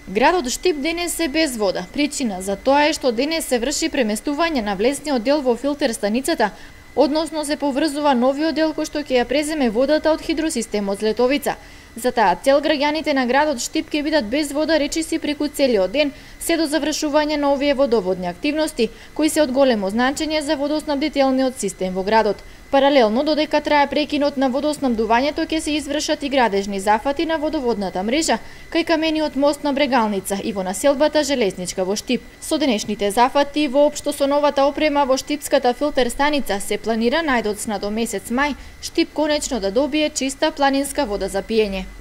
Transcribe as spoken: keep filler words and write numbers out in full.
Градот Штип денес е без вода. Причина за тоа е што денес се врши преместување на влезниот дел во филтер станицата, односно се поврзува новиот дел кој што ќе ја преземе водата од хидросистемот Злетовица. За таа цел граѓаните на градот Штип ќе бидат без вода речиси преку целиот ден, се до завршување на овие водоводни активности, кои се од големо значење за водоснабдителниот систем во градот. Паралелно, додека трае прекинот на водоснабдувањето, ќе се извршат и градежни зафати на водоводната мрежа кај камениот мост на Брегалница и во населбата Железничка во Штип. Со денешните зафати воопшто со новата опрема во Штипската филтер станица се планира најдоцна до месец мај Штип конечно да добие чиста планинска вода за пиење.